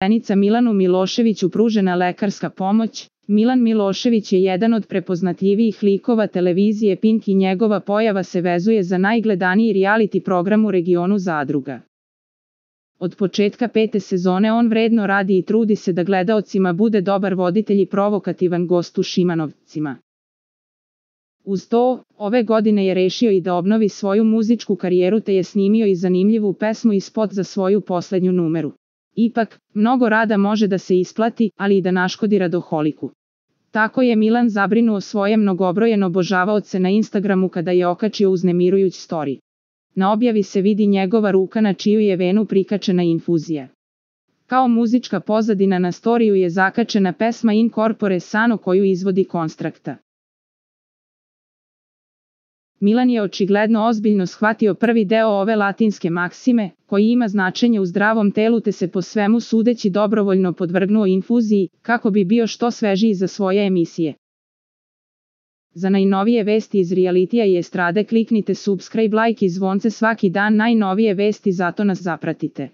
Zapošljenica Milanu Miloševiću pružena lekarska pomoć. Milan Milošević je jedan od prepoznatljivijih likova televizije Pink i njegova pojava se vezuje za najgledaniji reality program u regionu Zadruga. Od početka 5. sezone on vredno radi i trudi se da gledaocima bude dobar voditelj i provokativan gost u Šimanovcima. Uz to, ove godine je rešio i da obnovi svoju muzičku karijeru te je snimio i zanimljivu pesmu i spot za svoju poslednju numeru. Ipak, mnogo rada može da se isplati, ali i da naškodi radoholiku. Tako je Milan zabrinuo svoje mnogobrojene obožavaoce na Instagramu kada je okačio uznemirujuć story. Na objavi se vidi njegova ruka na čiju je venu prikačena infuzija. Kao muzička pozadina na storiju je zakačena pesma In Corpore Sano koju izvodi Konstrakta. Milan je očigledno ozbiljno shvatio prvi deo ove latinske maksime, koji ima značenje u zdravom telu te se po svemu sudeći dobrovoljno podvrgnuo infuziji, kako bi bio što svežiji za svoje emisije. Za najnovije vesti iz realitija i estrade kliknite subscribe, like i zvonce svaki dan najnovije vesti zato nas zapratite.